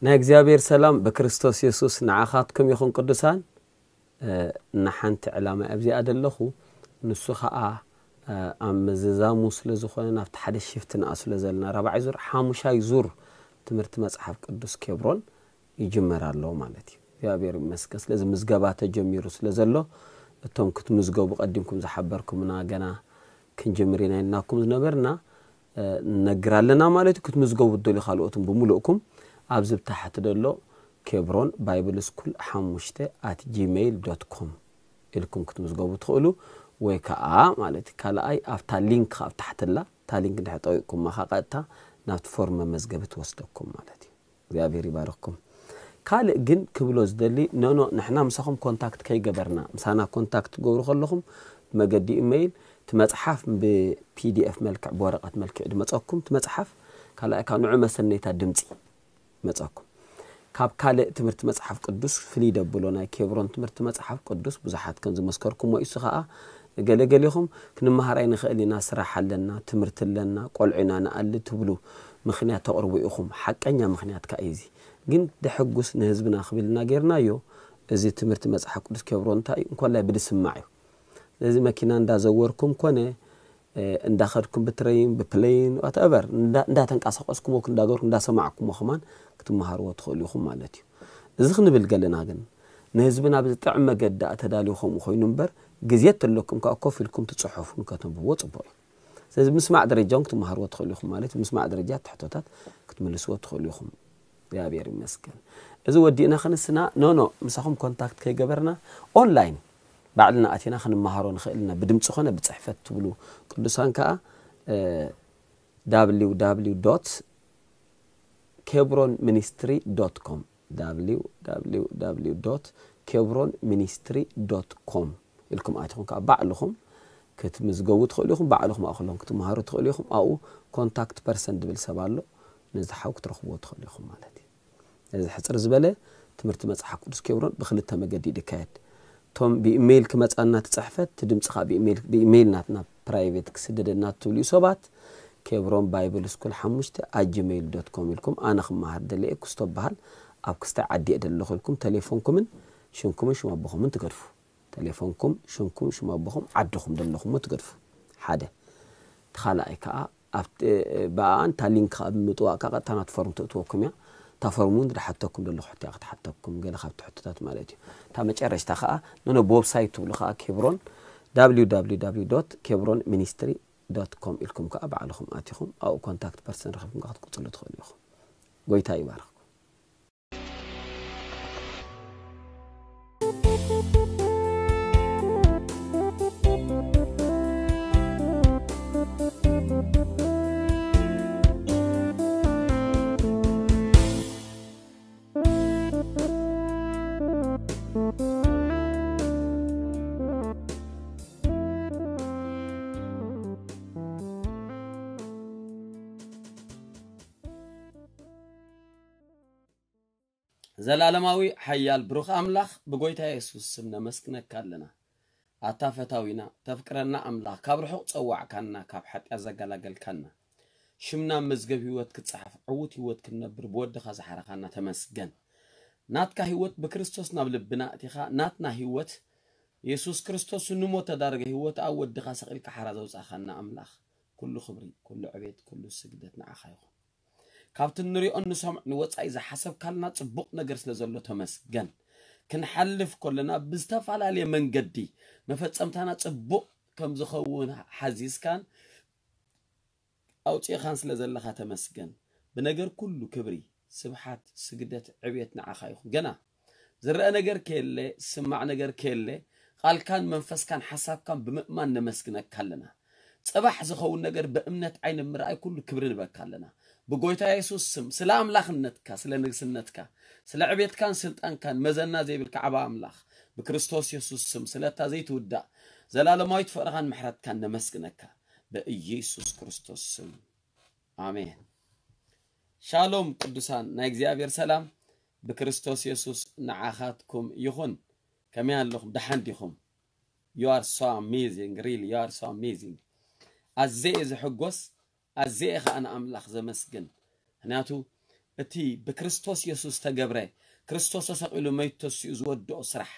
ናይ እግዚኣብሔር ሰላም ብክርስቶስ የሱስ ንዓኻትኩም ይኹን ቅዱሳን። ንሓንቲ ዕላማ ኣብዚኣ ደለኹ፣ ንሱ ኸዓ ኣብ ምዝዛሙ ስለ ዝኾነ ናብቲ ሓደ ሽፍት ንኣ ስለ ዘለና ራብዓይ ዙር ሓሙሻይ ዙር ትምህርቲ መጽሓፍ ቅዱስ ኬብሮን ይጅመር ኣሎ ማለት እዩ። እግዚኣብሔር ይመስገን። ስለዚ ምዝገባ ተጀሚሩ ስለ ዘሎ እቶም ክትምዝገቡ ቀዲምኩም ዝሓበርኩምና ገና ክንጅምር ኢና ኢልናኩም ዝነበርና ንነግር ኣለና ማለት እዩ። ክትምዝገቡ ትደልዩ ካልኦትን ብምሉእኩም ኣብዚ ብታሕቲ ደሎ ኬብሮን ባይብል ስኩል ሓሙሽተ ኣት ጂሜይል ዶት ኮም ኢልኩም ክትምዝገቡ ትኽእሉ፣ ወይ ከዓ ማለት እዩ ካልኣይ ኣብታ ሊንክ ኣብ ታሕትላ እታ ሊንክ እንድሕር ጠዊቕኩማ ከዓ ቀጥታ ናብቲ ፎርም መመዝገቢ ትወስደኩም ማለት እዩ። እግዚኣብሔር ይባርኽኩም። ካልእ ግን ክብሎ ዝደሊ፣ ኖኖ ንሕና ምሳኹም ኮንታክት ከይገበርና፣ ምሳና ኮንታክት ትገብሩ ከለኹም ብመገዲ ኢሜይል እቲ መጽሓፍ ብፒዲኤፍ መልክዕ ብወረቐት መልክዕ ድመጸኩም እቲ መጽሓፍ። ካልኣይ ካብ ንዑ መሰነይታ ድምፂ መጸኩም። ካብ ካልእ ትምህርቲ መጽሓፍ ቅዱስ ፍልይ ደብሎ ናይ ኬብሮን ትምህርቲ መጽሓፍ ቅዱስ ብዙሓት ከም ዝመስከርኩሞ እዩ። እሱ ኸዓ ገለገሊኹም ክንመሃር ኣይንኽእል ኢና፣ ስራሕ ኣለና፣ ትምህርቲ ኣለና፣ ቆልዑ ኢና ንኣሊ ትብሉ ምኽንያት ተቕርቡ ኢኹም። ሓቀኛ ምኽንያት ከኣ እዩ እዚ። ግን ደሐጉስ ንህዝብና ክብል ኢና ጌርናዮ። እዚ ትምህርቲ መጽሓፍ ቅዱስ ኬብሮን እንታይ እዩ? እንኮላይ ብድስማዕ እዩ። ስለዚ መኪና እንዳዘወርኩም ኮነ እንዳኸድኩም ብትረይን ብፕለይን ዋትኤቨር እንዳተንቀሳቀስኩሞ እንዳገርኩም እንዳሰማዕኩሞ ከማን ክትመሃርዎ ትኽእሉ ኢኹም ማለት እዩ። እዚ ክንብል ገለና ግን ንህዝብና ብዝጥዕም መገዲ ኣተዳልዩ ከምኡ ኮይኑ እምበር ግዜ ተለኩም ከዓ ኮፍ ኢልኩም ትፅሑፉን ከተንብብዎ ፅቡቅ እዩ። ስለዚ ምስማዕ ደረጃ እውን ክትመሃርዎ ትኽእሉ ኢኹም ማለት ምስማዕ ደረጃ ትሕቶታት ክትምልስዎ ትኽእሉ ኢኹም። እግዚኣብሔር ይመስገን። እዚ ወዲእና ክንስና ኖኖ ምሳኹም ኮንታክት ከይገበርና ኦንላይን ባዕልና ኣቲና ክንመሃሮ ንኽእል ኢና። ብድምፂ ኾነ ብፅሕፈት ትብሉ ቅዱሳን ከዓ www kebronministry.com www kebronministry.com ኢልኩም ኣቲኹም ከዓ ባዕልኹም ክትምዝገቡ ትኽእሉ ኢኹም። ባዕልኹም ኣእክሎም ክትመሃሩ ትኽእሉ ኢኹም። ኣብኡ ኮንታክት ፐርሰን ዝብል ሰብ ኣሎ። ነዚ ሓው ክትረኽብዎ ትኽእሉ ኢኹም ማለት እዩ። እዚ ሕፅር ዝበለ ትምህርቲ መፅሓፍ ቅዱስ ኬብሮን ብክልተ መገዲ እዩ ዝካየድ። እቶም ብኢሜይል ክመፃና ትፅሕፈት እቲ ድምፂ ከዓ ብኢሜይል ናትና ፕራይቬት ክስደደና ትብልዩ ሰባት ኬብሮን ባይብል ስኩል ሓሙሽተ ኣት ጂሜይል ዶት ኮም ኢልኩም ኣነ ክመሃር ደለየ ክስቶ በሃል ኣብ ክስታይ ዓዲ እየ ደለኹ ኢልኩም ተሌፎንኩምን ሽምኩምን ሽም ኣቦኹምን ትገድፉ። ተሌፎንኩም ሽምኩም ሽም ኣቦኹም ዓድኹም ደለኹሞ ትገድፉ። ሓደ እቲ ካልኣይ ከዓ ኣብቲ ብኣኣን እታ ሊንክ ከዓ ብምጥዋቅ ከዓ ቀጥታ ናቲ ፎርም ትእትወኩም እያ። እታ ፎርም እውን ዝሓተኩም ደለኹ ሕቶ እያ ክትሓተኩም ገለ ካብቲ ሕቶታት ማለት እዩ። እታ መጨረሽታ ከዓ ነነ ብወብሳይት ትብሉ ከዓ ኬብሮን www kebronministry.com ኢልኩም ከዓ ባዕልኹም ኣቲኹም ኣብኡ ኮንታክት ፐርሰን ረኺብኩም ከዓ ክትቅፅሉ ትኽእሉ ኢኹም። ጎይታ ይባርኽኩም። ዘላለማዊ ሓያል ብሩኽ ኣምላኽ ብጎይታ የሱስ ስም ነመስግነካ ኣለና። ኣታ ፈታዊና ተፍቅረና ኣምላኽ ካብ ርሑቕ ጸዋዕካና ካብ ሓጢኣት ዘገላገልካና ሽምና መዝገብ ህይወት ክጸሓፍ ዕዉት ህይወት ክንነብር ብወድኻ ዝሓረኻና ተመስገን። ናትካ ህይወት ብክርስቶስ ናብ ልብና ኣእቲኻ ናትና ህይወት የሱስ ክርስቶስ ንሞት ተዳረገ ህይወት ኣብ ወድኻ ሰቒልካ ሓራ ዘውጻእኻና ኣምላኽ ኩሉ ክብሪ ኩሉ ዕቤት ኩሉ ስግደት ንዓኻ ይኹን። ካብቲ ንሪኦን ንሰምዖን ወጻኢ ዝሓሰብካልና ጽቡቕ ነገር ስለ ዘሎ ተመስገን። ክንሓልፍ ከለና ብዝተፈላለየ መንገዲ መፈጸምታና ጽቡቕ ከም ዝኸውን ሓዚዝካን ኣውጺእኻን ስለ ዘለኻ ተመስገን። ብነገር ኩሉ ክብሪ፣ ስብሓት፣ ስግደት፣ ዕብየት ንዓኻ ይኹን። ገና ዝረአ ነገር ከየለ፣ ዝስማዕ ነገር ከየለ፣ ቃልካን መንፈስካን ሓሳብካን ብምእማን ነመስግነካ ኣለና። ጽባሕ ዝኸውን ነገር ብእምነት ዓይኒ ምርኣይ ኩሉ ክብሪ ንበካ ኣለና። ብጎይታ የሱስ ስም ስለ ኣምላኽነትካ ስለ ንግስነትካ ስለ ዕቤትካን ስልጣንካን መዘና ዘይብልካ ዓባ ኣምላኽ ብክርስቶስ የሱስ ስም ስለታ ዘይትውዳእ ዘላለማዊት ፍቕርኻን ምሕረትካን ነመስግነካ ብኢየሱስ ክርስቶስ ስም ኣሜን። ሻሎም ቅዱሳን ናይ እግዚኣብሔር ሰላም ብክርስቶስ የሱስ ንዓኻትኩም ይኹን። ከመይ ኣለኹም? ደሓን ዲኹም? You are so amazing, really, you are so amazing. ኣዘየ ዝሕጎስ ኣዘየ ኸዓ ንኣምላኽ ዘመስግን። ምክንያቱ እቲ ብክርስቶስ የሱስ ተገብረ፣ ክርስቶስ ተሰቒሉ መይቱ ተሲኡ ዝወድኦ ስራሕ፣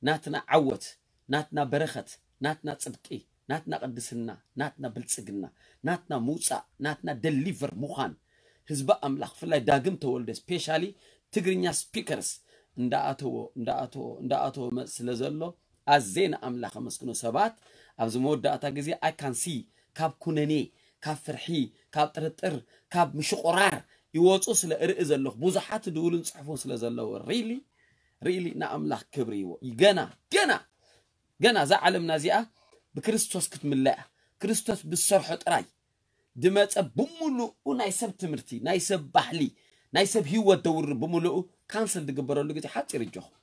ናትና ዓወት፣ ናትና በረኸት፣ ናትና ጽድቂ፣ ናትና ቅድስና፣ ናትና ብልጽግና፣ ናትና ምውጻእ፣ ናትና ደሊቨር ምዃን፣ ህዝቢ ኣምላኽ፣ ብፍላይ ዳግም ተወልደ፣ ስፔሻሊ ትግርኛ ስፒከርስ እንዳኣተዎ እንዳኣተዎ እንዳኣተዎ መጽ ስለ ዘሎ፣ ኣዜ ንኣምላኽ ኣመስግኖ። ሰባት ኣብዚ መወዳእታ ግዜ ኣይ ካን ሲ ካብ ኩነኔ፣ ካብ ፍርሒ፣ ካብ ጥርጥር፣ ካብ ምሽቑራር ይወፁ ስለ እርኢ ዘለኹ፣ ብዙሓት ድውልን ጽሑፉን ስለ ዘለዉ፣ ሪሊ ሪሊ ንኣምላኽ ክብሪ ይዎ። ገና ገና ገና እዛ ዓለምና እዚኣ ብክርስቶስ ክትምለኣ፣ ክርስቶስ ብዝሰርሖ ጥራይ ድመፀ ብምሉኡ ናይ ሰብ ትምህርቲ፣ ናይ ሰብ ባህሊ፣ ናይ ሰብ ህይወት ደውርድ ብምሉኡ ካንስል ዝግበረሉ ግዜ ሓፂር እጆኹም።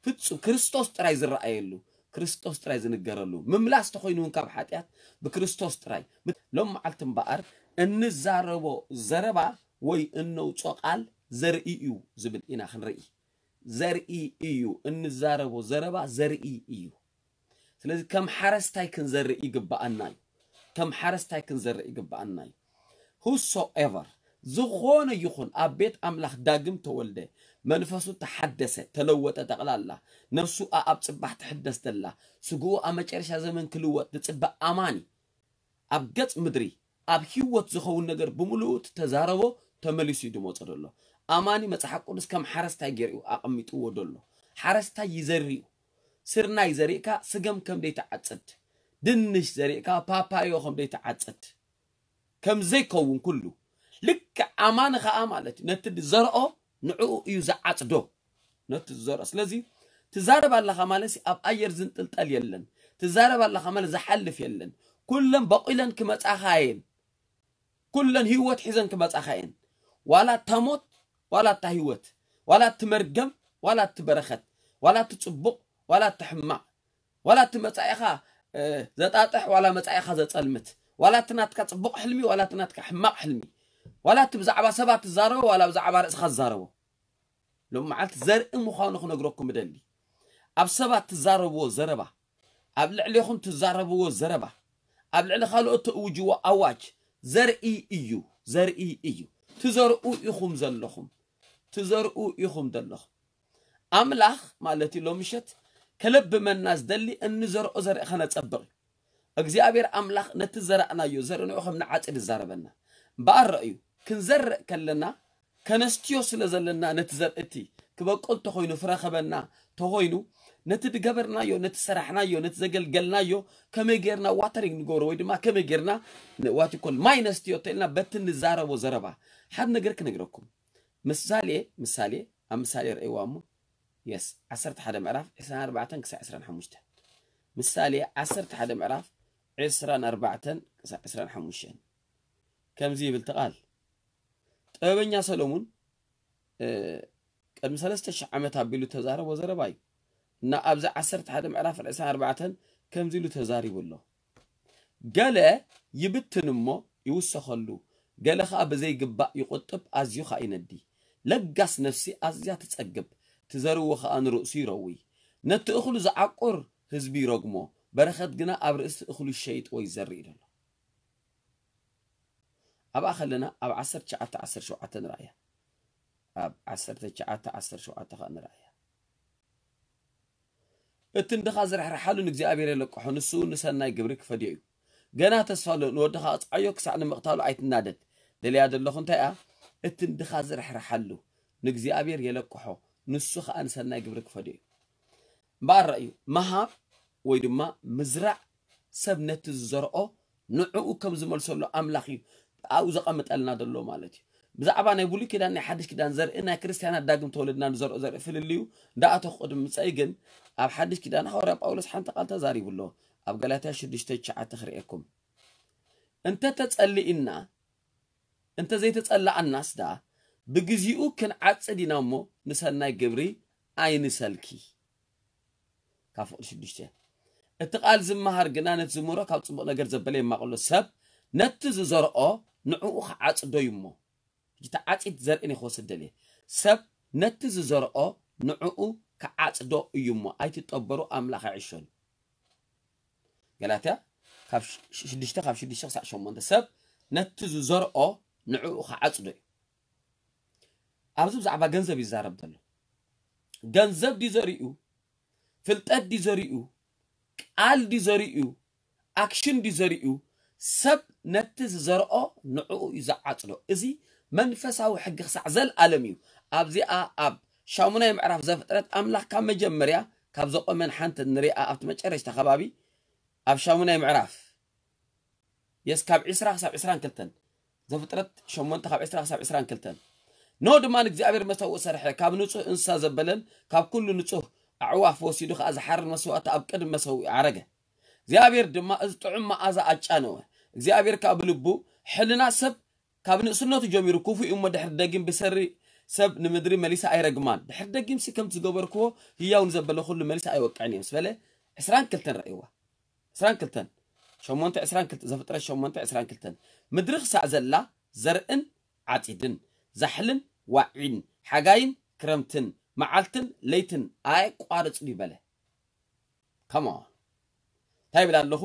ፍጹም ክርስቶስ ጥራይ ዝረኣየሉ፣ ክርስቶስ ጥራይ ዝንገረሉ፣ ምምላስ ተኾይኑ እውን ካብ ሓጢኣት ብክርስቶስ ጥራይ። ሎም መዓልቲ እምበኣር እንዛረቦ ዘረባ ወይ እነውጾ ቃል ዘርኢ እዩ ዝብል ኢና ክንርኢ። ዘርኢ እዩ፣ እንዛረቦ ዘረባ ዘርኢ እዩ። ስለዚ ከም ሓረስታይ ክንዘርእ ይግብኣና እዩ። ከም ሓረስታይ ክንዘርእ ይግብኣና እዩ። ሁሶኤቨር፣ ዝኾነ ይኹን ኣብ ቤት ኣምላኽ ዳግም ተወልደ፣ መንፈሱ ተሓደሰ፣ ተለወጠ፣ ጠቕላላ ነፍሱ ኣብ ጽባሕ ትሕደስ ዘላ፣ ስግኡ ኣብ መጨረሻ ዘመን ክልወጥ ዝጽበ ኣማኒ፣ ኣብ ገጽ ምድሪ ኣብ ህይወት ዝኸውን ነገር ብምሉኡ እቲ ተዛረቦ ተመሊሱ እዩ ድመጾ ደሎ። ኣማኒ መጽሓፍ ቅዱስ ከም ሓረስታይ ገይሩ ኣቐሚጥዎ ደሎ። ሓረስታይ ይዘርእ እዩ። ስርናይ ዘሪእካ ስገም ከም ደይትዓጽድ፣ ድንሽ ዘሪእካ ፓፓዮ ከም ደይትዓጽድ ከም ዘይከውን ኩሉ ልክዕ ኣማኒ ኸኣ ማለት እዩ። ነቲ ዝዘርኦ ንዕኡ እዩ ዝዓጽዶ። ነቲ ዝዘርኦ። ስለዚ ትዛረብ ኣለኻ ማለት ኣብ ኣየር ዝንጥልጠል የለን። ትዛረብ ኣለኻ ማለት ዝሓልፍ የለን። ኩለን በቂለን ክመጻኻ እየን። ኩለን ህይወት ሒዘን ክመጻኻ እየን። ዋላ እታ ሞት፣ ዋላ እታ ህይወት፣ ዋላ እቲ መርገም፣ ዋላ እቲ በረኸት፣ ዋላ እቲ ጽቡቕ፣ ዋላ እቲ ሕማቕ፣ ዋላ እቲ መጻኢኻ እ፣ ዘጣጥሕ፣ ዋላ መጻኢኻ ዘጸልምት፣ ዋላ እቲ ናትካ ጽቡቕ ሕልሚ፣ ዋላ እቲ ናትካ ሕማቕ ሕልሚ፣ ዋላ እቲ ብዛዕባ ሰባት ትዛረቦ፣ ዋላ ብዛዕባ ርእስኻ ትዛረቦ። ሎም መዓልቲ ዘርኢ ምዃኑ ክነግረኩም እደሊ። ኣብ ሰባት ትዛረብዎ ዘረባ፣ ኣብ ልዕሌኹም ትዛረብዎ ዘረባ፣ ኣብ ልዕሊ ካልኦት ተእውጅዎ ኣዋጅ ዘርኢ እዩ፣ ዘርኢ እዩ። ትዘርኡ ኢኹም ዘለኹም፣ ትዘርኡ ኢኹም ዘለኹም። ኣምላኽ ማለት እዩ ሎም ምሸት ከለብመና ዝደሊ እንዘርኦ ዘርኢ ከነጸብቕ እዩ። እግዚኣብሔር ኣምላኽ ነቲ ዘራእናዮ ዘርኢ ንዑ ከም ንዓጽድ ይዛረበና። እምበኣር ረእዩ፣ ክንዘርእ ከለና ከነስትዮ ስለ ዘለና ነቲ ዘርኢ እቲ ክበቁል ተኾይኑ ፍረ ከበና ተኾይኑ ነቲ ድገበርናዮ፣ ነቲ ሰራሕናዮ፣ ነቲ ዘገልገልናዮ ከመይ ጌርና ዋተሪንግ ንገብሮ ወይ ድማ ከመይ ጌርና ን-፣ ዋት ይኮል ማይ ነስትዮ ተኢልና በቲ ንዛረቦ ዘረባ ሓደ ነገር ክነግረኩም። ምሳሌ፣ ምሳሌ፣ ኣብ ምሳሌ ረእይዋ እሞ፣ የስ፣ ዓሰርተ ሓደ ምዕራፍ ዕስራን ኣርባዕተን ክሳዕ ዕስራን ሓሙሽተን። ምሳሌ ዓሰርተ ሓደ ምዕራፍ ዕስራን ኣርባዕተን ክሳዕ ዕስራን ሓሙሽተን። ከምዚ ይብል እቲ ቃል። ጥበበኛ ሰሎሙን፣ እ፣ ቅድሚ ሰለስተ ሽሕ ዓመት ኣቢሉ ተዛረቦ ዘረባ እዩ። እና ኣብዚ ዓሰርተ ሓደ ምዕራፍ ዕስራን ኣርባዕተን ከምዚ ኢሉ ተዛሪቡ ኣሎ። ገለ ይብትን እሞ ይውሰኸሉ፣ ገለ ኸኣ ብዘይግባእ ይቑጥብ፣ ኣዝዩ ኸኣ ይነዲ። ለጋስ ነፍሲ ኣዝያ ትጸግብ፣ ትዘርዎ ኸኣ ንርእሱ ይረዊ። ነቲ እኽሉ ዝዓቁር ህዝቢ ይረግሞ፣ በረኸት ግና ኣብ ርእሲ እኽሉ ይሸይጥዎ ይዘርእ እዩ ዘሎ። ኣብኣ ከለና ኣብ ዓሰርተ ትሽዓተ ዓሰርተ ሸውዓተ ንርኣያ። ኣብ ዓሰርተ ትሽዓተ ዓሰርተ ሸውዓተ ኸኣ ንርኣያ። እቲ ንድኻ ዝርሕርሓሉ ንእግዚኣብሔር የለቅሖ፣ ንሱ ንሰናይ ግብሪ ክፈድዮ እዩ። ገና ተስፋ ኣሎ፣ ንወድኻ ቅጽዓዮ ክሳዕ ንምቕታሉ ኣይትናደድ። ደልያ ዘለኹ እንታይ እያ? እቲ ንድኻ ዝርሕርሓሉ ንእግዚኣብሔር የለቅሖ፣ ንሱ ኸኣ ንሰናይ ግብሪ ክፈድዮ እዩ። እምበኣር ረእዩ፣ ምሃብ ወይ ድማ ምዝራእ ሰብ ነቲ ዝዘርኦ ንዕኡ ከም ዝመልሰሉ ኣምላኽ እዩ ኣብኡ ዘቐምጠልና ዘሎ ማለት እዩ። ብዛዕባ ናይ ብሉይ ኪዳን ናይ ሓድሽ ኪዳን ዘርኢ ናይ ክርስትያናት ዳግም ተወለድና ንዘርኦ ዘርኢ ፍልልዩ እንዳኣተኹ ቅድሚ ምጸኢ ግን ኣብ ሓድሽ ኪዳን ሃዋርያ ጳውሎስ ሓንቲ ቃል ተዛሪቡ ኣሎ። ኣብ ገላትያ ሽዱሽተ ትሽዓተ ክርእየኩም። እንተ ተጸሊእና፣ እንተ ዘይተጸላኣናስ ደኣ ብግዚኡ ክንዓጽድ ኢና እሞ ንሰናይ ግብሪ ኣይንሰልኪ። ካብ ፍቕዲ ሽዱሽተ። እቲ ቃል ዝመሃር ግና ነቲ ዝምህሮ ካብ ጽቡቕ ነገር ዘበለ የማቕሎ። ሰብ ነቲ ዝዘርኦ ንዕኡ ክዓጽዶ እዩ እሞ። ሕጂ እቲ ዓጺድ ዘርእን ክወስድ ደልየ። ሰብ ነቲ ዝዘርኦ ንዕኡ ክዓጽዶ እዩ እሞ ኣይትጠበሩ፣ ኣምላኽ ኣይዕሾን። ገላትያ ካብ ሽ-፣ ሽዱሽተ፣ ካብ ሽዱሽተ ክሳዕ ሸሞንተ። ሰብ ነቲ ዝዘርኦ ንዕኡ ክዓጽዶ እዩ። ኣብዚ ብዛዕባ ገንዘብ ይዛረብ ዘሎ። ገንዘብ ድዩ ዘሪኡ? ፍልጠት ድዩ ዘሪኡ? ቃል ድዩ ዘሪኡ? ኣክሽን ድዩ ዘሪኡ? ሰብ ነቲ ዝዘርኦ ንዕኡ እዩ ዝዓጽዶ። እዚ መንፈሳዊ ሕጊ ክሳዕ ዘልኣለም እዩ። ኣብዚኣ ኣብ ሻሙናይ ምዕራፍ ዘፍጥረት ኣምላኽ ካብ መጀመርያ ካብ ዘቆመን ሓንቲ ንሪኣ ኣብቲ መጨረሽታ ከባቢ ኣብ ሻሙናይ ምዕራፍ የስ ካብ ዕስራ ክሳብ ዕስራን ክልተን ዘፍጥረት ሸሞንተ ካብ ዕስራ ክሳብ ዕስራን ክልተን ኖ ድማ ንእግዚኣብሔር መሰውእ ሰርሐ፣ ካብ ንጹህ እንስሳ ዘበለን ካብ ኩሉ ንጹህ ኣዕዋፍ ወሲዱ ከኣ ዝሓርድ መስዋእቲ ኣብ ቅድሚ መሰውኢ ኣረገ። እግዚኣብሔር ድማ እዚ ጥዑም መኣዛ ኣጫነወ። እግዚኣብሔር ከኣ ብልቡ ሕልና ሰብ ካብ ንእስነቱ ጀሚሩ ክፉእ እዩ እሞ ድሕሪ ደጊም ብሰሪ ሰብ ንምድሪ መሊሳ ኣይረግማን። ድሕሪ ደጊምሲ ከምቲ ዝገበርክዎ ህያው ንዘበለ ኩሉ መሊሳ ኣይወቅዕን እየ ምስ በለ ዕስራን ክልተን ረእይዋ። ዕስራን ክልተን ሸሞንተ ዕስራን ክልተ ዘፍጥረት ሸሞንተ ዕስራን ክልተን ምድሪ ክሳዕ ዘላ ዘርእን ዓጺድን ዛሕልን ዋዒን ሓጋይን ክረምትን መዓልትን ለይትን ኣየቋርጽን እዩ በለ። ከማ እንታይ ይብል ኣለኹ?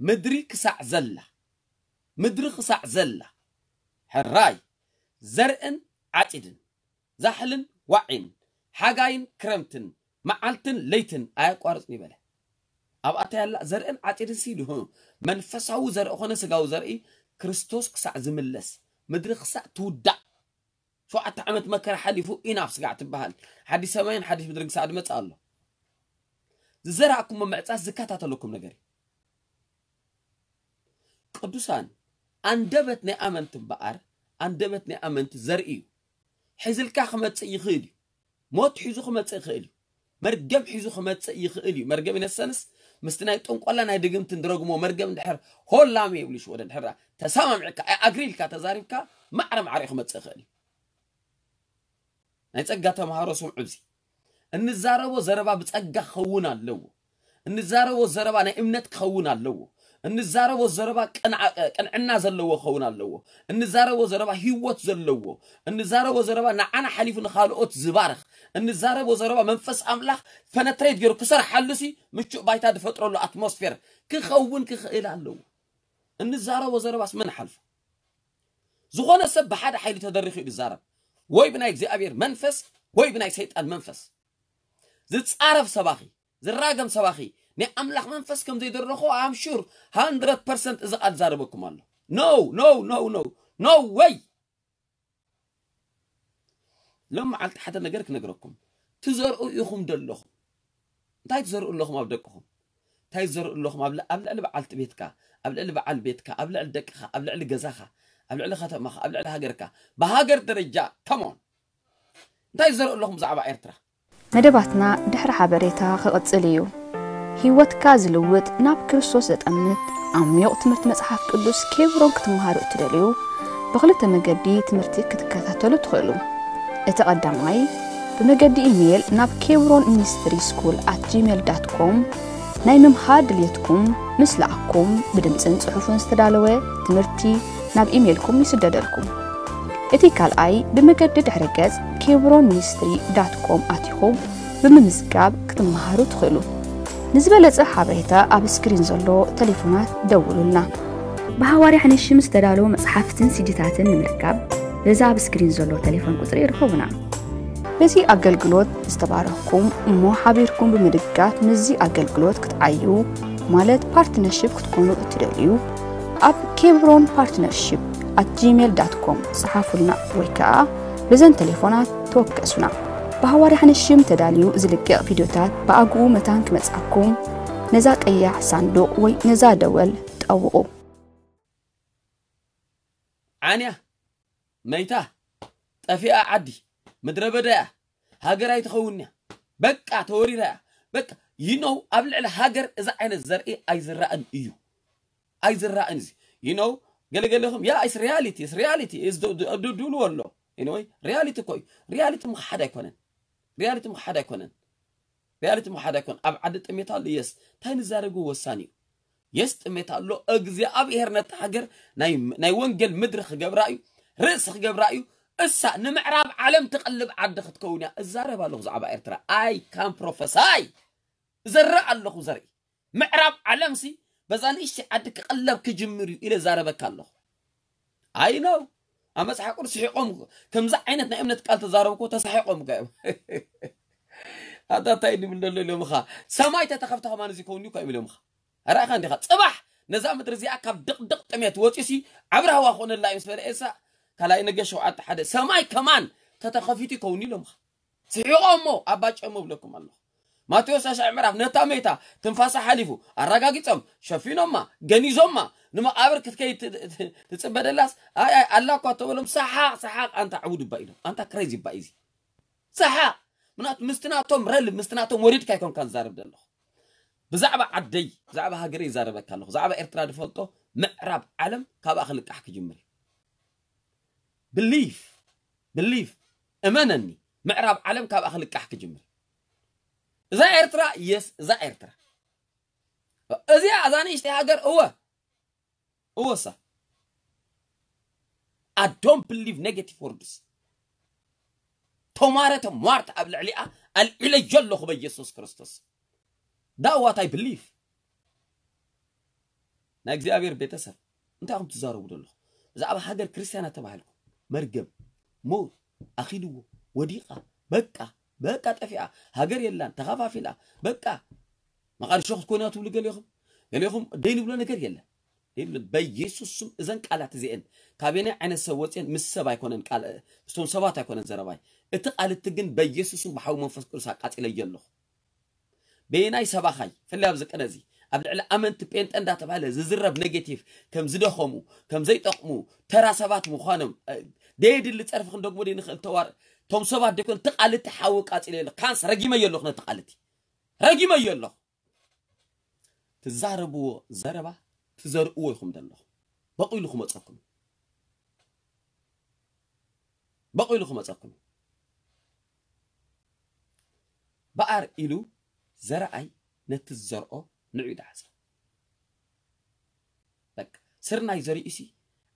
ምድሪ ክሳዕ ዘላ ምድሪ ክሳዕ ዘላ ሕራይ ዘርእን ዓጺድን ዛሕልን ዋዒን ሓጋይን ክረምትን መዓልትን ለይትን ኣየቋርጽን ይበለ። ኣብኣታ ያላ ዘርእን ዓጺድን ሲሉ መንፈሳዊ ዘርኢ ኾነ ስጋዊ ዘርኢ ክርስቶስ ክሳዕ ዝምለስ ምድሪ ክሳዕ ትውዳእ ሸውዓተ ዓመት መከራ ሓሊፉ ኢናፍ ስጋዕ ትበሃል ሓዲስ ሰማይን ሓዲስ ምድርን ክሳዕ ዝመጽእ ኣሎ። ዝዘራእኩሞ ምዕጻስ ዝከታተለኩም ነገር እዩ። ቅዱሳን፣ ኣንደበት ናይ ኣመንቲ እምበኣር፣ ኣንደበት ናይ ኣመንቲ ዘርኢ እዩ። ሒዝልካ ክመጽእ ይኽእል እዩ። ሞት ሒዙ ክመጽእ ይኽእል እዩ። መርገም ሒዙ ክመጽእ ይኽእል እዩ። መርገም ኢነሰንስ ምስቲ ናይ ጥንቆላ ናይ ድግምትን ድረግሞ መርገም እንድሕር ሆላም የብሉ ሽወደ እንድሕር ተሰማሚዕካ ኣይ ኣግሪ ኢልካ ተዛሪብካ ማዕረ ማዕረ ክመጽእ ይኽእል እዩ። ናይ ጸጋ ተምሃሮ ስምዑ። እዚ እንዛረቦ ዘረባ ብጸጋ ክኸውን ኣለዎ። እንዛረቦ ዘረባ ናይ እምነት ክኸውን ኣለዎ። እንዛረቦ ዘረባ ቅንዓ- ቅንዕና ዘለዎ ክኸውን ኣለዎ። እንዛረቦ ዘረባ ህይወት ዘለዎ። እንዛረቦ ዘረባ ንዓና ሓሊፉ ንኻልኦት ዝባርኽ። እንዛረቦ ዘረባ መንፈስ ኣምላኽ ፈነትሬት ገይሩ ክሰርሓሉ ሲ ምቹእ ባይታ ዝፈጥረሉ ኣትሞስፌር ክኸውን ክኽእል ኣለዎ። እንዛረቦ ዘረባስ መን ሓልፎ? ዝኾነ ሰብ ብሓደ ሓይሊ ተደሪኹ እዩ ዝዛረብ። ወይ ብናይ እግዚኣብሔር መንፈስ ወይ ብናይ ሰይጣን መንፈስ። ዝጻረፍ ሰባኺ፣ ዝራገም ሰባኺ፣ ናይ ኣምላኽ መንፈስ ከም ዘይደረኾ ኣም ሹር ሃንድረድ ፐርሰንት እዚ ቃል ዛረበኩም ኣሎ። No, no, no, no, no way። ሎም መዓልቲ ሓደ ነገር ክነግረኩም። ትዘርኡ ኢኹም ደለኹም። እንታይ ትዘርኡ ኣለኹም ኣብ ደቅኹም? እንታይ ትዘርኡ ኣለኹም ኣብ ል- ኣብ ልዕሊ በዓልቲ ቤትካ፣ ኣብ ልዕሊ በዓል ቤትካ፣ ኣብ ልዕሊ ደቅኻ፣ ኣብ ልዕሊ ገዛኻ፣ ኣብ ልዕሊ ከተማኻ፣ ኣብ ልዕሊ ሃገርካ? ብሃገር ደረጃ ከሞን እንታይ ትዘርኡ ኣለኹም ብዛዕባ ኤርትራ? መደባትና ድሕሪ ሓበሬታ ክቕጽል እዩ። ህይወትካ ዝልውጥ ናብ ክርስቶስ ዘጠምት ዓሚቕ ትምህርቲ መጽሓፍ ቅዱስ ኬብሮን ክትመሃሩ እትደልዩ ብኽልተ መገዲ ትምህርቲ ክትከታተሉ ትኽእሉ። እቲ ቀዳማይ ብመገዲ ኢሜይል ናብ ኬብሮን ሚኒስትሪ ስኩል ኣት ጂሜል ዳት ኮም ናይ ምምሃር ድልየትኩም ምስ ለኣኩም ብድምፅን ፅሑፍን ዝተዳለወ ትምህርቲ ናብ ኢሜይልኩም ይስደደልኩም። እቲ ካልኣይ ብመገዲ ድሕረ ገጽ ኬብሮን ሚኒስትሪ ዳት ኮም ኣቲኹም ብምምዝጋብ ክትመሃሩ ትኽእሉ። ንዝበለጸ ሓበሬታ ኣብ ስክሪን ዘሎ ቴሌፎናት ደውሉልና። ብሃዋርያ ሕንሽም ዝተዳለዉ መጽሓፍትን ሲዲታትን ንምርካብ በዛ ኣብ ስክሪን ዘሎ ቴሌፎን ቁጽሪ ይርከቡና። በዚ ኣገልግሎት ዝተባረኽኩም እሞ ሓቢርኩም ብምድጋፍ ምስዚ ኣገልግሎት ክትዓዩ ማለት ፓርትነርሽፕ ክትኮኑ እትደልዩ ኣብ ኬብሮን ፓርትነርሽፕ ኣት ጂሜል ዳት ኮም ጸሓፉልና ወይ ከኣ በዘን ቴሌፎናት ተወከሱና። ብሃዋርያ ሕንሽም ተዳልዩ ዝልቀቕ ቪድዮታት ብኣግኡ መታን ክመጽኣኩም ነዛ ቀያሕ ሳንዱቕ ወይ ነዛ ደወል ጠውቑ። ዓንያ መይታ ጠፊኣ ዓዲ ምድረ በዳ እያ። ሃገር ኣይትኸውን እያ። በቃ ተወሪራ እያ። በቃ you know ኣብ ልዕሊ ሃገር እዚ ዓይነት ዘርኢ ኣይዝራእን እዩ። ኣይዝራእን እዚ you know ገለገለኹም yeah it's reality it's reality is do do do ኣሎ anyway reality እኮ እዩ። ሪያሊቲ ምኽሓድ ኣይኮነን። ሪያሊቲ ምኽሓድ ኣይኮነን። ሪያሊቲ ምኽሓድ ኣይኮነን። ኣብ ዓዲ ጥሜት ኣሎ የስ እንታይ ንዛረቡ ወሳኒ እዩ። የስ ጥሜት ኣሎ እግዚኣብሔር ነቲ ሃገር ናይ ናይ ወንጌል ምድሪ ክገብራ እዩ። ርእሲ ክገብራ እዩ። እሳ ንምዕራብ ዓለም ትቐልብ ዓዲ ክትከውን እያ። እዛረብ ኣለኹ ብዛዕባ ኤርትራ I can prophesy እዘርእ ኣለኹ ዘርኢ ምዕራብ ዓለምሲ በዛ ንእሽተይ ዓዲ ክቐለብ ክጅምር እዩ ኢለ ዛረበካ ኣለኹ። I know ኣብ መጽሓፍ ቅዱስ ስሒቆም፣ ከምዚ ዓይነት ናይ እምነት ቃል ተዛረብኩ፣ ተሳሒቆም እኮ እዮም። ኣታ እንታይ ድብል ደሎ ኢሎምኻ? ሰማይ ተተኸፍተ ከማን እዚ ከውን እዩ እኮ እዮም ኢሎምኻ። ኣራእኻ እንዲኻ? ጽባሕ ነዛ ምድሪ እዚኣ ካብ ድቕድቕ ጥሜት ወፂሲ ዓብሪ ሃዋ ክኾነላ እዩ ምስ በለ ኤልሳ፣ ካልኣይ ነገ ሸውዓተ ሓደ፣ ሰማይ ከማን ተተኸፊቱ ይከውን ኢሎምኻ። ስሒቆሞ ኣባጨሞ ብለኩም ኣለኹ። ማቴዎስ ሻሻዕ ምዕራፍ ነታ ሜታ ትንፋሳ ሓሊፉ ኣረጋጊጾም፣ ሸፊኖማ፣ ገኒዞማ፣ ንመቓብር ክትከይድ ት- ት- ትጽበደላስ፣ ኣይ ኣይ ኣላ እኳ ተበሎም፣ ሰሓቕ ሰሓቕ፣ ኣንታ ዕቡድ እባ ኢሎም፣ ኣንታ ክሬዚ እባ ኢዚ ሰሓቕ። ምናት ምስቲ ናቶም ረል ምስቲ ናቶም ወሪድካ ኣይኮንካ ዝዛረብ ዘለኹ። ብዛዕባ ዓደይ ብዛዕባ ሃገረይ ይዛረበካ ኣለኹ። ብዛዕባ ኤርትራ ዝፈልጦ፣ ምዕራብ ዓለም ካብኣ ክልቃሕ ክጅምር እዩ። ብሊፍ ብሊፍ እመነኒ፣ ምዕራብ ዓለም ካብኣ ክልቃሕ ክጅምር። እዛ ኤርትራ፣ የስ፣ እዛ ኤርትራ፣ እዚኣ እዛ ንእሽተይ ሃገር፣ እወ እወሳ። I don't believe negative words። ተማረ ተሟርት ኣብ ልዕሊኣ ኣልዒለዮ ኣለኹ በኢየሱስ ክርስቶስ። That what I believe። ናይ እግዚኣብሔር ቤተሰብ፣ እንታይ ኢኹም ትዛረቡ ዘለኹም? ብዛዕባ ሃገር ክርስትያናት ተባሂልኩም፣ መርገም፣ ሞት ኣኺልዎ፣ ወዲቓ፣ በቃ፣ በቃ ጠፊኣ፣ ሃገር የላን፣ ተኸፋፊላ፣ በቃ፣ መቓድሾ ክትኮንያ ትብሉ ገሊኹም፣ ገሊኹም ደይ ንብሎ ነገር የለን። ደይ ንብሎ፣ በኢየሱስ ስም እዘን ቃላት እዚአን ካበየናይ ዓይነት ሰብ ወፅየን? ምስ ሰብ ኣይኮነን ቃል፣ ምስቶም ሰባት ኣይኮነን ዘረባይ። እቲ ቃል እቲ ግን በኢየሱስ ስም ብሓዊ መንፈስ ቅዱስ ኣቃፂለዮ ኣለኹ። በየናይ ሰባኻይ፣ ፍላይ ኣብዚ ቅነ እዚ፣ ኣብ ልዕሊ ኣመንቲ ጴንጠ እንዳተባሃለ ዝዝረብ ኔጌቲቭ፣ ከም ዝደኸሙ፣ ከም ዘይጠቕሙ፣ ተራ ሰባት ምዃኖም፣ እ፣ ደየድሊ ጸርፊ ክንደግሞ ደይንኽእል ተዋር-፣ ቶም ሰባት ደይኮን፣ እቲ ቃል እቲ ሓዊ ቃጺለ ኣለኹ። ካንስ ረጊመዮ ኣለኹ ነቲ ቃል እቲ። ረጊመዮ ኣለኹ። ትዛረብዎ ዘረባ ትዘርእዎ ኢኹም ዘለኹም። በቒሉ ክመጸኩም። በቒሉ ክመጸኩም። በኣር ኢሉ ዘረኣይ ነቲ ዝዘርኦ ንዑ ይደሓጽ። በቃ፣ ስርናይ ዘሪኡሲ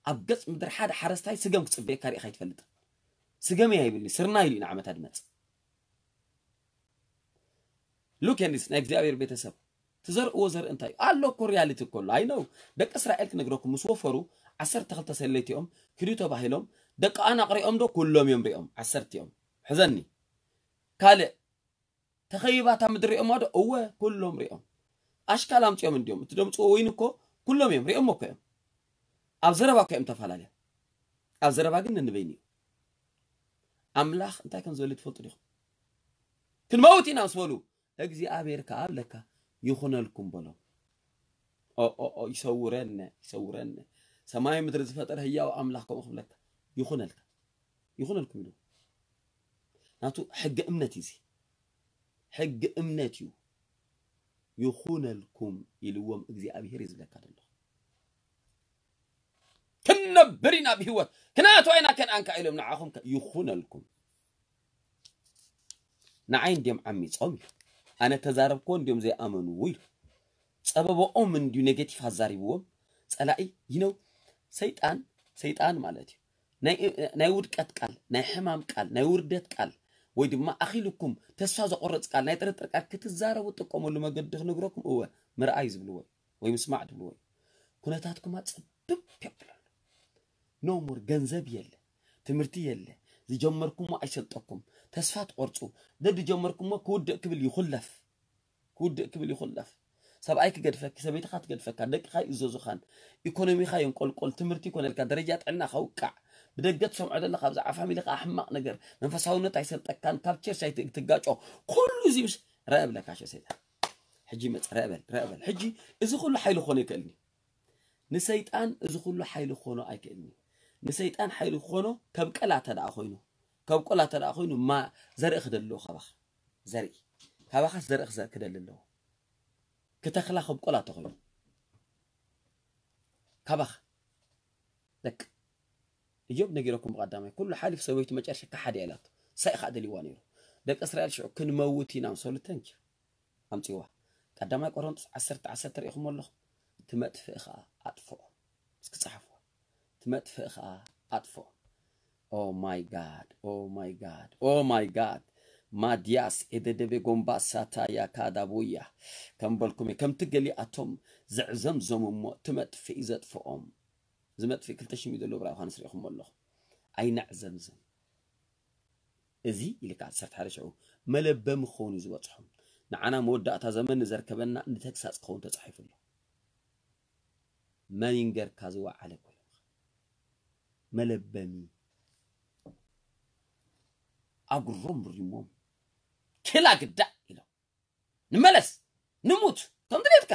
ኣብ ገጽ ምድሪ ሓደ ሓረስታይ ስገም ክጽበየካ ሪኢኻ ኣይትፈልጥን። ስገም እያ ይብልኒ፣ ስርናይ ኢሉ ኢና ዓመታ ድመጽእ። ሉክ ኤንዲስ ናይ እግዚኣብሔር ቤተሰብ ትዘርእዎ ዘርኢ እንታይ እዩ? ኣሎ እኮ ሪያሊቲ እኮ ኣሎ። ኣይ ነው ደቂ እስራኤል ክነግረኩም ምስ ወፈሩ ዓሰርተ ክልተ ሰለይቲኦም ክዱ ተባሂሎም ደቂ ኣናቕ ሪኦም ዶ? ኩሎም እዮም ሪኦም ዓሰርቲኦም። ሕዘኒ ካልእ ተኸይባታ ምድሪ ሪኦማ ዶ? እወ ኩሎም ሪኦም። ኣሽካል ኣምጺኦም እንዲዮም እቲ ደምጽዎ ወይን እኮ ኩሎም እዮም ሪኦም እኮ እዮም። ኣብ ዘረባ እኮ እዮም ተፈላለዮም። ኣብ ዘረባ ግን ንንበይን እዩ። ኣምላኽ እንታይ ከም ዝበለ ትፈልጡ ዲኹም? ክንመውት ኢና ምስ በሉ እግዚኣብሔር ከኣ ኣለካ ይኹነልኩም በሎም። ኦ ኦ ኦ ይሰውረነ ይሰውረነ። ሰማይ ምድሪ ዝፈጠረ ህያው ኣምላኽ ከምኡ ክብለካ ይኹነልካ ይኹነልኩም ኢሉ ናቱ ሕጊ እምነት እዩ። እዚ ሕጊ እምነት እዩ። ይኹነልኩም ኢልዎም እግዚኣብሔር እዩ ዝብለካ ዘሎ። ክንነብር ኢና ብህይወት ክነኣትዋ ኢና ከነኣንካ ኢሎም ንዓኹም ከ ይኹነልኩም። ንዓይ እንዲዮም ዓሚጾም ኢሉ ኣነ ተዛረብክዎ እንዲዮም ዘይኣመንዎ ኢሉ ጸበባኦም እንዲዩ ኔጌቲቭ ኣዛሪብዎም ጸላኢ ይነው ሰይጣን ሰይጣን ማለት እዩ። ናይ ውድቀት ቃል ናይ ሕማም ቃል ናይ ውርደት ቃል ወይ ድማ ኣኺልኩም ተስፋ ዘቆርጽ ቃል ናይ ጥርጥር ቃል ክትዛረቡ ትጥቀመሉ መገዲ ክነግረኩም እወ ምርኣይ ዝብልዎ ወይ ምስማዕ ትብልዎ ኩነታትኩም ኣጸብብ የብለሉ። ኖ ሞር ገንዘብ የለ ትምህርቲ የለ ዝጀመርኩሞ ኣይሰልጠኩም ተስፋ ትቆርጹ ደድጀመርኩሞ ክውድእ ክብል ይኹለፍ ክውድእ ክብል ይኹለፍ ሰብኣይ ክገድፈኪ ሰበይትኻ ትገድፈካ ደቅኻ ይእዘዙኻን ኢኮኖሚኻ ይንቆልቆል ትምህርቲ ይኮነልካ ደረጃ ጥዕና ከውቃዕ ብደገ ትሰምዖ ዘለኻ ብዛዕባ ፋሚሊ ከዓ ሕማቕ ነገር መንፈሳውነት ኣይሰልጠካን ካብ ቸርች ኣይትጋጮ ኩሉ እዚ ምስ ረአ ብለካ ሸ ሰይጣን ሕጂ መፅ ረአ በል ረአ በል ሕጂ እዚ ኩሉ ሓይሊ ክኾኖ ይክእልኒ ንሰይጣን እዚ ኩሉ ሓይሊ ክኾኖ ኣይክእልኒ ንሰይጣን ሓይሊ ክኾኖ ከብቀላ ተደኣ ኮይኑ ከብቆላ ተደኣ ኮይኑ ማ ዘርኢ ክደልዎ ካባኻ ዘርኢ ካባኻስ ዘርኢ ክዘ- ክደሊ ኣለዎ ክተኽላ ከብቆላ ተኾይኑ ካባኻ ደቂ እዮብ ነጊረኩም ብቐዳማይ ኩሉ ሓሊፍ ሰበይቱ መጨረሻ ካሓደ ኢላቶ ሳይ ከዓ ደልዋ ነይሩ ደቂ እስራኤል ሽዑ ክንመውት ኢና ምሰሉ ተንኪ ኣምፅዋ ቀዳማይ ቆሮንቶስ ዓሰርተ ዓሰርተ ርኢኹም ኣለኹም ትመጥፍእ ከዓ ኣጥፍኦ እስኪ ጸሓፍዋ ትመጥፍእ ከዓ ኣጥፍኦ Oh my God, oh my God, oh my God. ማድያስ ኤደደቤ ጎምባ ሳታያ ካዳቡያ ከም በልኩም እየ። ከምቲ ገሊኣቶም ዘዕዘምዘሙ እሞ እቲ መጥፍኢ ዘጥፍኦም እዚ መጥፍኢ ክልተ ሽም እዩ ዘለዎ ብራ ዮሃንስ ርኢኹም ኣለኹም ኣይነዕዘምዝም። እዚ ኢልካ ዓሰርተ ሓደ ሽዑ መለበሚ ክኸውን እዩ ዝበጽሖም። ንዓና መወዳእታ ዘመን ንዘርከበና ንተግሳጽ ክኸውን ተጻሒፉ ኣሎ። መን ይንገርካ ዝወዓለ ኮለኻ መለበሚ ኣጉሮም ብሪሞም ክላ ግዳ ኢሎም ንመለስ ንሙት ከም ድሌትካ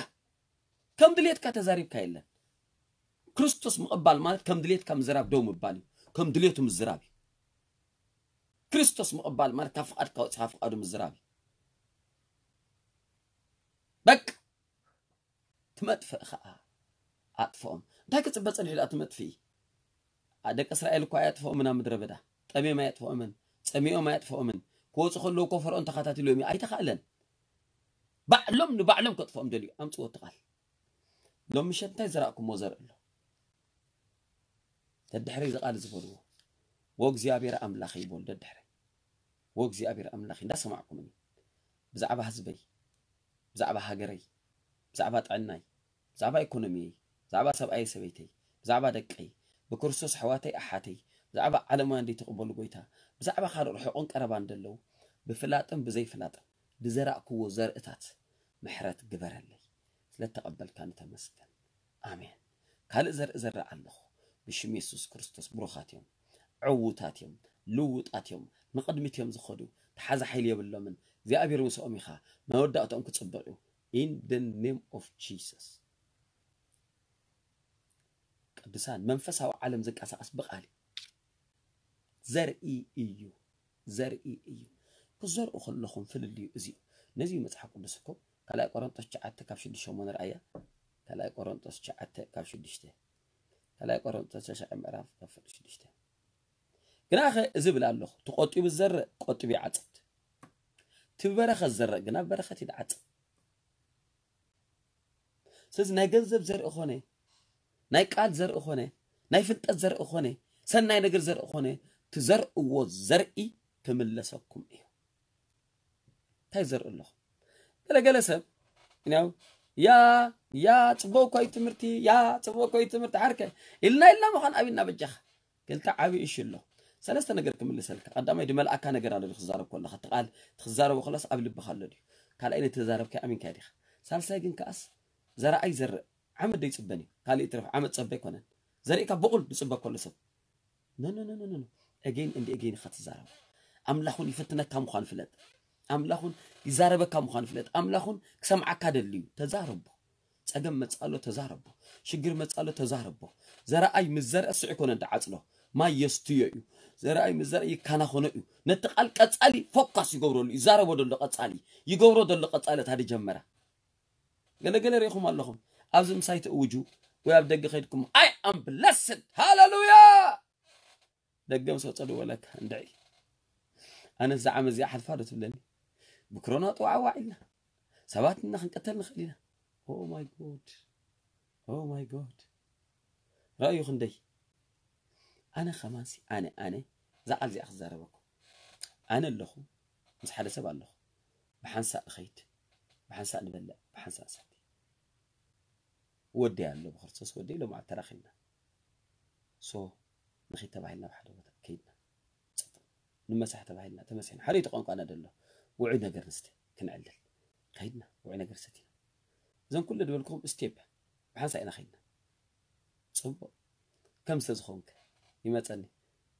ከም ድሌትካ ተዛሪብካ የለን። ክርስቶስ ምቕባል ማለት ከም ድሌትካ ምዝራብ ደው ምባል እዩ። ከም ድሌቱ ምዝራብ እዩ። ክርስቶስ ምቕባል ማለት ካብ ፍቓድካ ወፂኻ ፍቓዱ ምዝራብ እዩ። በቃ ትመጥፍእ ኸዓ ኣጥፍኦም። እንታይ ክፅበ ፀኒሑ ደኣ ትመጥፍኢ? ደቂ እስራኤል እኳ ኣያጥፍኦምን ኣብ ምድረ በዳ ጠምዮም ኣያጥፍኦምን ፀሚኦም ኣያጥፍኦምን ክወፁ ከለዉ እኮ ፈርኦን ተኻታቲሎም እዩ ኣይተኻእለን። ባዕሎም ንባዕሎም ከጥፍኦም ደልዩ ኣምፅዎ እቲ ቃል። ሎም ምሸት እንታይ ዘራእኩሞ ዘርኢ ኣሎ? ደድሕረይ እዚ ቃል ዝበልዎ ወእግዚኣብሔር ኣምላኽ ይበሉ ደድሕረይ ወእግዚኣብሔር ኣምላኽ እንዳሰማዕኩምኒ ብዛዕባ ህዝበይ ብዛዕባ ሃገረይ ብዛዕባ ጥዕናይ ብዛዕባ ኢኮኖሚየይ ብዛዕባ ሰብኣይ ሰበይተይ ብዛዕባ ደቀይ ብክርስቶስ ኣሕዋተይ ኣሓተይ ብዛዕባ ዓለማውያን ዘይትቕበሉ ጎይታ ብዛዕባ ካልእ ርሑቕን ቀረባን ዘለዉ ብፍላጥን ብዘይፍላጥን ዝዘራእክዎ ዘርእታት ምሕረት ግበረለይ። ስለተቐበልካኒ ተመስገን። ኣሜን። ካልእ ዘርኢ ዘርእ ኣለኹ። ብሽም የሱስ ክርስቶስ ብሩኻት እዮም። ዕዉታት እዮም። ልውጣት እዮም። ንቕድሚት እዮም ዝኸዱ። ተሓዚ ሓይሊ የብሎምን። እግዚኣብሔር ምስኦም ኢኻ። መወዳእትኦም ክጽብቕ እዩ። In the name of Jesus። ቅዱሳን መንፈሳዊ ዓለም ዝንቀሳቐስ ብቓል እዩ። ዘርኢ እዩ። ዘርኢ እዩ። ክትዘርኡ ከለኹም ፍልልዩ እዚ እዩ። ነዚ እዩ መጽሓፍ ቅዱስ እኮ ካልኣይ ቆሮንጦስ ትሽዓተ ካብ ሽዱሽተ እሞ ንርኣያ። ካልኣይ ቆሮንጦስ ትሽዓተ ካብ ሽዱሽተ። ካልኣይ ቆሮንጦስ ተሽዐ ምዕራፍ ካብ ፍቕዲ ሽዱሽተ። ግናኸ እዚ ብል ኣለኹ፣ ተቖጢቡ ዝዘርእ ቆጢቡ ይዓጽድ። እቲ ብበረኸት ዝዘርእ ግና ብበረኸት እዩ ዝዓጽድ። ስለዚ ናይ ገንዘብ ዘርኢ ኾነ፣ ናይ ቃል ዘርኢ ኾነ፣ ናይ ፍልጠት ዘርኢ ኾነ፣ ሰናይ ነገር ዘርኢ ኾነ፣ ትዘርእዎ ዘርኢ ክምለሰኩም እዩ። እንታይ ዘርኢ ኣለኹ? ገለገለ ሰብ ያው ያ ያ ጽቡቅ እኮ እዩ ትምህርቲ፣ ያ ጽቡቅ እኮ እዩ ትምህርቲ ዓርከ ኢልና ኢልና ምዃን ኣብና በጃኻ። ክልተ ዓቢ እሺ ኣሎ። ሰለስተ ነገር ክምልሰልካ። ቀዳማይ ድመልኣካ ነገር ኣሎ ድዩ ክዛረብ ከለኻ፣ እቲ ቃል ትዛረቦ ከለስ ኣብ ልብኻ ኣሎ ድዩ? ካልኣይ ነቲ ተዛረብካዮ ኣሚንካዮ ዲኻ? ሳልሳይ ግን ከኣስ ዘረኣይ ዘርእ ዓመት ደይጽበን እዩ። ካልእ ይትረፍ ዓመት ጸበ ኣይኮነን። ዘርእካ ብቑል ድጽበ ከሎ ሰብ ኖ ኖ ኖ ኖ ኖ። ኤጌን እንዲ ኤጌን ኢኻ ትዛረቦ። ኣምላኹን ይፍትነካ ምዃኑ ፍለጥ። ኣምላኹን ይዛረበካ ምዃኑ ፍለጥ። ኣምላኹን ክሰምዓካ ደልዩ ተዛረቦ። ጸገም መጻሎ ተዛረቦ። ሽግር መጻሎ ተዛረቦ። ዘረኣይ ምስ ዘርአ ስዑ ይኮነ እንዳዓጽሎ ማይ የስትዮ እዩ። ዘረኣይ ምስ ዘርአ ይካናኾኖ እዩ። ነቲ ቃል ቀጻሊ ፎካስ ይገብረሉ። ይዛረቦ ደሎ ቀጻሊ ይገብሮ ደሎ ቀጻሊ እታ ድጀመራ። ገለገለ ርኢኹም ኣለኹም። ኣብዚ ምሳይ ትእውጁ ወይ ኣብ ደገ ከይድኩም I am blessed ሃሌሉያ። ደገ ምስ ወጸ ድወለካ እንድዒ ኣነ እዛ ዓመት እዚኣ ሓልፋ ዶ ትብለኒ? ብክሮና ጥዋዕዋዕ ኢልና ሰባት እና ክንቀተል ንኽእል ኢና። Oh my God. Oh my God. ረኣዩ ክንደይ ኣነ ከማንሲ ኣነ ኣነ እዛ ቃል እዚኣ ክዛረበኩም ኣነ ኣለኹ ምስ ሓደ ሰብ ኣለኹ ብሓንሳእ ንኸይድ ብሓንሳእ ንበልዕ ብሓንሳእ ንሰቲ ወደይ ኣሎ ብክርስቶስ ወደይ ሎምዓት ተራኺብና ሶ ንኸይድ ተባሂልና ብሓደ ቦታ ከይድና ጽቡቕ ንመሳሕ ተባሂልና ተመሲሕና ሓደ እቲ ቋንቋና ደሎ ውዑይ ነገር ንስተ ክንዕልል ከይድና ውዑይ ነገር ሰቲና እዞም ኩሉ ዝበልኩኹም ስቴፕ ብሓንሳእ ኢና ከይድና ጽቡቕ ከም ዝተዝኾንከ ይመጸኒ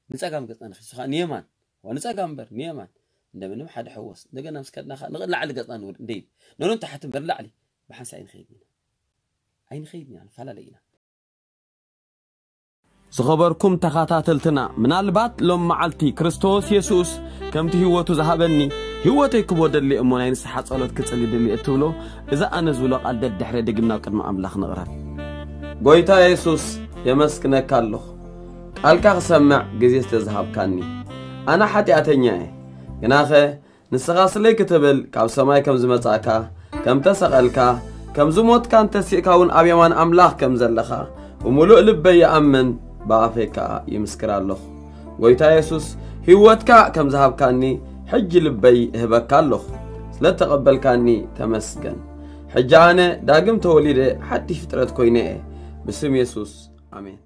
ንጸጋም ገጽና ንኺሱ ከዓ ንየማን ንጸጋም እምበር ንየማን እንደምንም ሓደ ሕወስ እንደገና ምስ ከድና ከዓ ንላዕሊ ገጽና ንወርድ እንደ ይብል ነኖን ተሓቲ እምበር ላዕሊ ብሓንሳእ ኣይንኸይድን ኢና ኣይንኸይድን ኢና ንፈላለ ኢና ዝኸበርኩም ተኻታተልትና ምናልባት ሎም መዓልቲ ክርስቶስ የሱስ ከምቲ ህይወቱ ዝሃበኒ ህይወተይ ክቦ ደሊ እሞ ናይ ንስሓ ጸሎት ክጽሊ ድሊ እትብሎ እዛ ኣነ ዝብሎ ቃል ደድሕረ ድግም ናብ ቅድሚ ኣምላኽ ንቕረብ ጎይታ የሱስ የመስግነካ ኣለኹ ቃልካ ክሰምዕ ግዜ ስለ ዝሃብካኒ ኣነ ሓጢኣተኛ እየ ግናኸ ንስኻ ስለይ ክትብል ካብ ሰማይ ከም ዝመጻእካ ከም ተሰቐልካ ከም ዝሞትካን ተሲእካ እውን ኣብ የማን ኣምላኽ ከም ዘለኻ ብምሉእ ልበይ ይኣምን ብኣፈይ ከኣ ይምስክር ኣለኹ ጎይታ የሱስ ህይወትካ ከም ዝሃብካኒ ሕጂ ልበይ እህበካ ኣለኹ ስለ ተቐበልካኒ ተመስገን ሕጂ ኣነ ዳግም ተወሊደ ሓድሽ ፍጥረት ኮይነ እየ ብስም የሱስ ኣሜን